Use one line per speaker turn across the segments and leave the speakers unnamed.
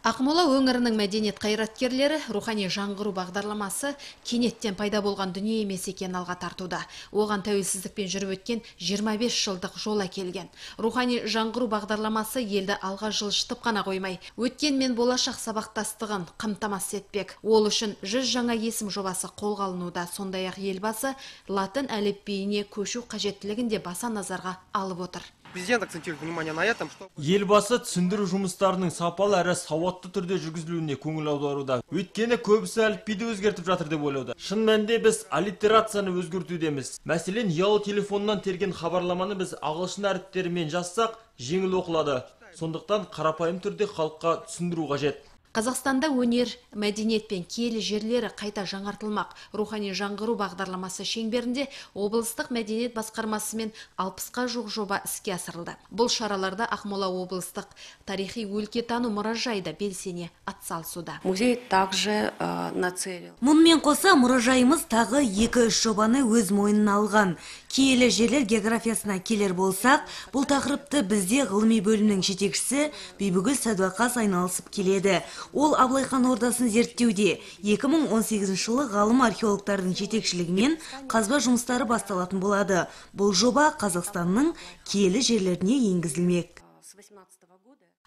Ақмола өңірінің мәдениет қайраткерлері рухани жаңғыру бағдарламасы кенеттен пайда болған дүние емес екенін алға тартуда. Оған тәуелсіздікпен жүріп өткен 25 жылдық жол әкелген. Рухани жаңғыру бағдарламасы елді алға жылжытып қана қоймай, өткен мен болашақ сабақтастығын қамтамасыз етпек. Ол үшін 100 жаңа есім жобасы қолға алынуда. Сондай-ақ елбасы латын әліпбиіне көшу қажеттілігін де баса назарға алып отыр.
Президент акцентирует внимание на этом, что
Елбасы түсіндіру жұмыстарының сапалы әрі сауатты түрде жүргізілуіне көңіл аударуда. Өйткені көбісі әліпбиді өзгертіп жатыр деп ойлауда. Шын мәнінде біз аллитерацияны өзгертудеміз. Мәселен, ұялы телефоннан терген хабарламаны біз ағылшын әріптерімен жазсақ, жеңіл оқылады. Сондықтан қарапайым түрде халыққа түсіндіру қажет.
Қазақстанда өнер, мәдениет пен киелі жерлері қайта жаңартылмақ. Рухани жаңғыру бағдарламасы шеңберінде облыстық мәдениет басқармасымен 60-қа жуық жоба іске асырылды. Бұл шараларда Ақмола облыстық тарихи өлкетану мұражайы да белсене атсалысуда.
Музей также нацелил.
Мұнымен қоса мұражайымыз тағы 2-3 жобаны өз мойнына алған. Киелі жерлер географиясына келер болсақ, бұл тақырыпты бізде ғылыми бөлімнің жетекшісі Бибігүл Сәдуақас айналысып келеді. Ол Абылайхан ордасын зерттеуде. 2018 жылы ғалым археологтардың жетекшілігімен қазба жұмыстары басталатын болады. Бұл жоба Қазақстанның киелі жерлеріне енгізілмек.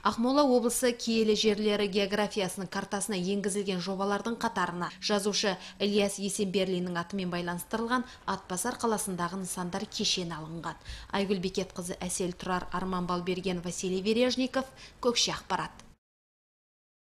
Ақмола облысы киелі жерлері географиясының картасына енгізілген жобалардың қатарына жазушы Ильяс Есенберлиннің атымен байланыстырылған Атбасар қаласындағы нысандар кешені алынған. Айгүл Бекетқызы, Әсел Тұрар, Арман Балберген, Василий Вережников, Көкше ақпарат.